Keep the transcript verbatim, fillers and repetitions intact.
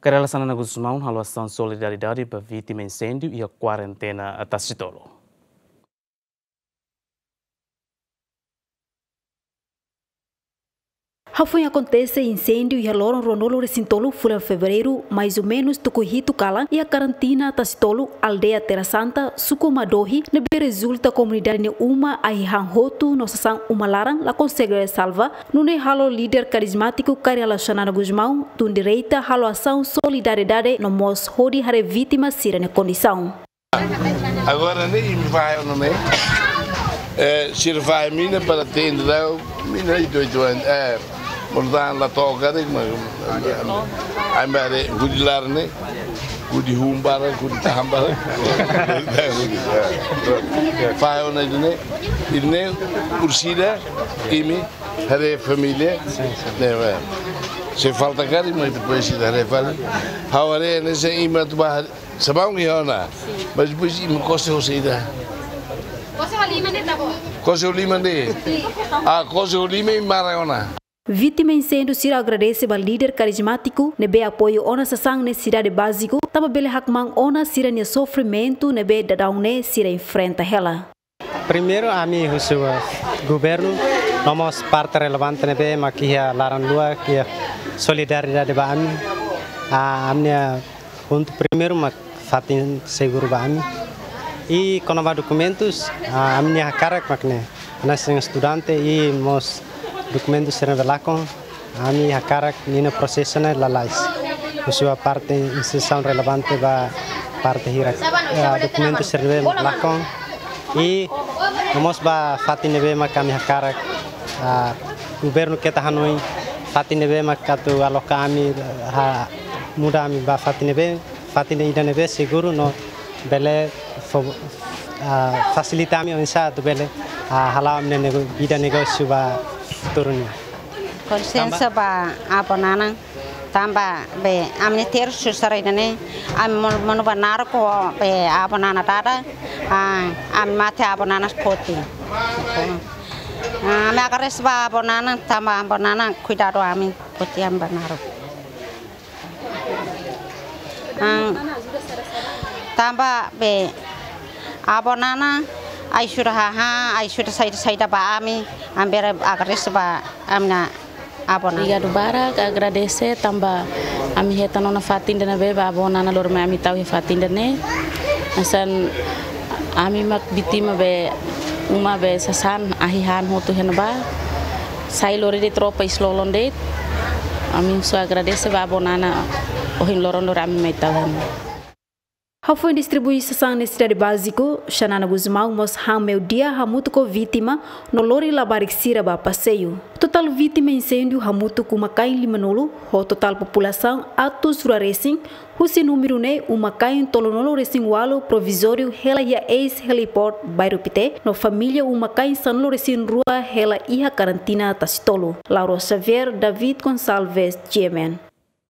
Kay Rala Xanana Gusmão halo asaun solidariedade ba vítima inséndiu iha kuarentena Tasitolu. Hafoin akontese inséndiu iha loron ruanulu-resin-tolu fulan Fevereiru, mais ou menus tuku hitu kalan, iha karantina Tasitolu, aldeia Terra Santa, suku Madohi, ne'ebé rezulta komunidade nia uma ahi han hotu no sasán uma laran la konsege salva, nune'e halo líder karizmátiku Kay Rala Xanana Gusmão tun direta halo asaun solidariedade no mós hodi haree vítima sira-nia kondisaun. Agora ne'e imi fahe ona ne'e. Eh, sira fahe mina para tende la, mina itu itu an, eh, mortan la toka de, ma, ai bare, hudi laran ne'e, hudi hun barak, hudi tahan barak. Fahe ona ida-ne'e, ida-ne'e, orsida, imi, haree família, ne'e, ba. Se falta karik, mas depois se haree fali. Ha'u haree, ne'e se imi atu ba, sabaun iha ona. Mas depois imi kose ho saida? Kose ho liman de'it, tá bom? Kose ho liman de'it. Ah, kose ho liman imi mara ona. Vítima inséndiu sira agradese ba líder karizmátiku ne'ebé apoiu ona sasán nesesidade báziku, tanba bele hakmaan ona sira-nia sofrimentu ne'ebé daudaun ne'e sira enfrenta hela. Primeiru, ami husu, eh, governu, no mós parte relevante ne'ebé mak iha laran luak, iha solidariedade ba ami. Ah, ami-nia pontu primeiru mak fatin seguru ba ami. I kona-ba dokumentus, ah, ami-nia hakarak mak ne'e. Hanesan estudante i mós dokumentus sira ne'ebé lakon, ami hakarak ninia prosesu ne'e lalais. Husu ba parte instituisaun relevante ba parte hirak. Eh, dokumentus sira ne'ebé lakon. I no mós ba fatin ne'ebé mak ami hakarak, ah, governu keta hanoin fatin ne'ebé mak atu aloka ami, ah, muda ami ba fatin ne'ebé, fatin ida ne'ebé seguru no bele fo-, ah, fasilita ami oinsá atu bele, ah, hala'o ami-nia nego-, vida negósiu ba futuru nian. Konsiénsia ba avó Nana, tanba be ami-nia tersu sira ida-ne'e, ami monu, monu ba naruk ho be avó Nana dada, ah, ami mate avó Nana foti. Ah, ami agradese ba avó Nana, tanba avó Nana kuidadu ami foti ami ba naruk. Ah, tanba be avó Nana ajuda hahán, ajuda saida-saida ba ami, ami bele agradese ba ami-nia avó Nana. Obrigadu barak, agradese tanba ami hetan ona fatin ida ne'ebé ba avó Nana lori mai ami tau iha fatin ida-ne'e. Hanesan ami mak vítima be uma be sasán ahi han hotu iha ne'ebá. Sai lori de'it roupa iis-lolon de'it. Ami só agradese ba avó Nana ohin loron lori ami mai tau iha ne'e. Hafoin distribui sasán nesesidade báziku, Xanana Gusmão mós han meiudia hamutuk ho vítima no lori labarik sira ba paseiu. Totál vítima inséndiu hamutuk uma-kain limanulu, ho totál populasaun atus rua resin, husi númeru ne'e uma-kain tolunulu-resin-ualu provizóriu hela iha eis-heliport Bairru Pité, no família uma-kain sanulu-resin-rua hela iha karantina Tasitolu. Lauro Xavier, David Gonçalves, G M N.